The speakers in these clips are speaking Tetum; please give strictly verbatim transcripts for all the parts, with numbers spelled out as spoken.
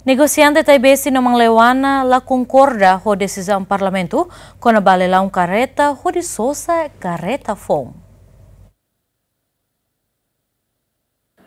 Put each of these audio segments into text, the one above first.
Negosiante Taibesi no Mangleuana la konkorda ho desizaun Parlamentu kona-ba leilaun kareta hodi sosa kareta foun.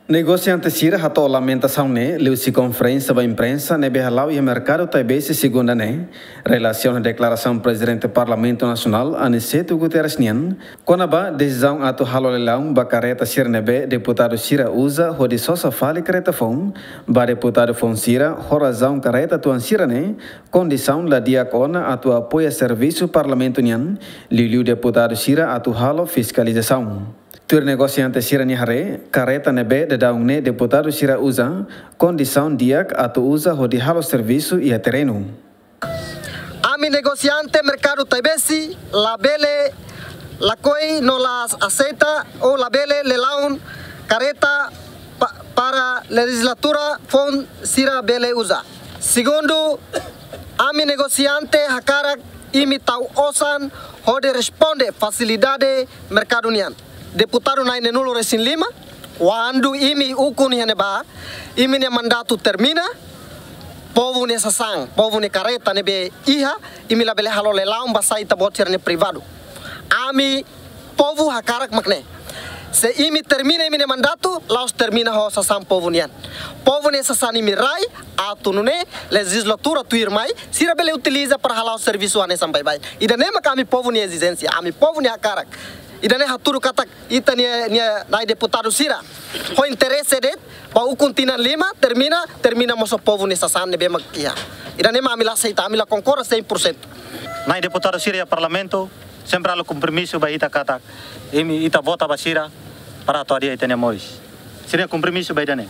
Negosiante sira hato'o lamentasaun ne'e liuhusi konferénsia ba imprensa ne'ebé hala'o iha Merkadu Taibesi Segunda ne'e, relasiona deklarasaun Prezidente Parlamentu Nasionál, Aniceto Guterres nian, kona-ba desizaun atu halo leilaun ba kareta sira ne'ebé deputadu sira uza hodi sosa fali kareta foun ba deputadu foun sira, ho razaun kareta tuan sira ne'e kondisaun la di'ak ona atu apoia servisu Parlamentu nian, liuliu deputadu sira atu halo fiskalizasaun. Tuir negosiante sira-nia haree, kareta ne'ebé daudaun ne'e deputadu sira uza, kondisaun di'ak atu uza hodi halo servisu iha terrenu. Ami negosiante Merkadu Taibesi labele lakohi no la aseita ou labele leilaun kareta pa-, para lejizlatura foun sira bele uza. Segundu, ami negosiante hakarak imi tau osan hodi responde fasilidade merkadu nian. Deputadu na'in-nulu resin lima, kuandu imi ukun iha ne'ebá, imi-nia mandatu termina, povu nia sasán, povu nia kareta ne'ebé iha, imi labele halo leilaun ba sai ita-boot sira-nia privadu. Ami povu hakarak mak ne'e. Se imi termina imi-nia mandatu, la'ós termina ho sasán povu nian. Povu nia sasán imi rai, atu nune'e lejizlatura tuirmai, sira bele utiliza para hala'o servisu hanesan baibain. Ida-ne'e mak ami povu nia ezijénsia, ami povu nia hakarak. Ida-ne'e hatudu katak ita-nia, nia nai deputadu sira ho interese de'it, ba ukun tinan lima, termina, termina mós ho povu nia sasán ne'ebé mak iha. Ida-ne'e mak ami la aseita, ami la konkorda sein por sentu. Nai deputadu sira iha Parlamentu, sempre halo kompromisu ba ita katak, imi ita vota ba sira, para atu hadi'a ita-nia moris. Sira-nia kompromisu ba ida-ne'e.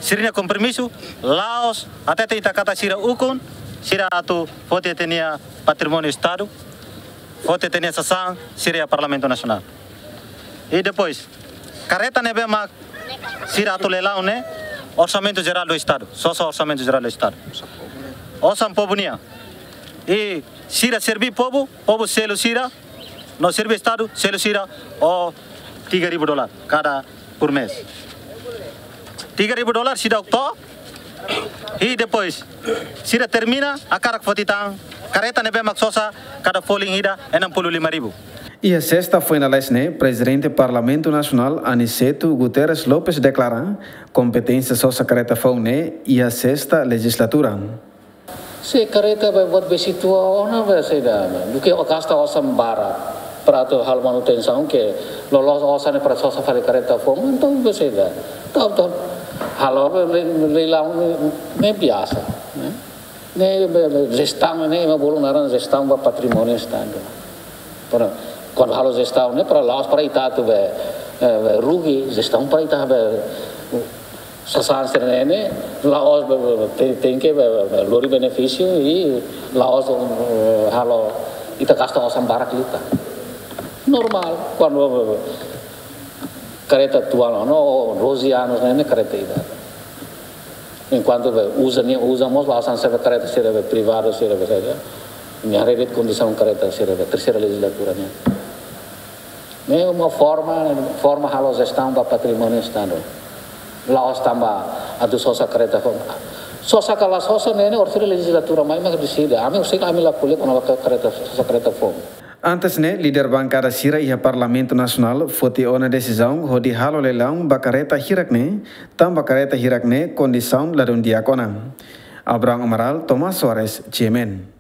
Sira-nia kompromisu, la'ós, hatete ita katak sira ukun, sira atu foti ita-nia patrimóniu Estadu, foti ita-nia sasán, sira iha Parlamentu Nasionál. I depois, kareta ne'ebé mak sira atu leilaun ne'e, Orsamentu Jerál do Estadu, sosa Orsamentu Jerál do Estadu. Osan povu nian. I sira serví povu, povu selu sira, no serví Estadu, selu sira, ho tiga ribu dolar kada por mês. Tiga ribu dolar seidauk to'o, i depois, sira termina, hakarak foti tan, kareta ne'ebé mak sosa, kada folin ida, enam puluh lima ribu. Iha sesta foin lalais ne'e, Prezidente Parlamentu Nasionál Aniceto Guterres Lopes deklara, kompeténsia sosa kareta foun ne'e iha sesta lejizlatura. Se kareta be buat besik tua ona be saida, duké gasta osan barak para atu halo manutensaun ke loloos osan ne'e para sosa fali kareta foun, entaun be saida. Tau, tau. Halo le-, le-, leilaun ne'e biasa, ne'e. Ne'e be, be, jestaun ne'e mak bolu naran jestaun ba patrimóniu Estadu. Para, kuandu halo jestaun ne'e para la'ós para ita atu be, eh, be rugi, jestaun para ita be, sasán sira-ne'e ne'e, la'ós be, be, be, te-, tenke be, be, be, lori benefísiu i la'ós, eh, halo ita gasta osan barak liután. Normál, kuandu be, be, kareta tua ona, no, doze anos ne'e, ne'e kareta ida. Enkuantu be, uza ne'e, uza mós, la'ós hanesan be kareta sira be privadu, sira be saida. Nia haree de'it kondisaun kareta sira be terseira lejizlatura ne'e. Ne'e uma forma, forma halo jestaun ba patrimóniu Estadu. La'ós tanba atu sosa kareta foun. Sosa ka la sosa ne'e, ne'e orsida lejizlatura mai mak deside. Ami, husik ami la ko'alia kona-ba kareta, sosa kareta foun. Antes ne'e, líder bankada sira iha Parlamentu Nasionál foti ona desizaun hodi halo leilaun ba kareta hirak ne'e, tanba kareta hirak ne'e kondisaun ladún di'ak ona. Abraham Amaral, Tomás Soares, G M N.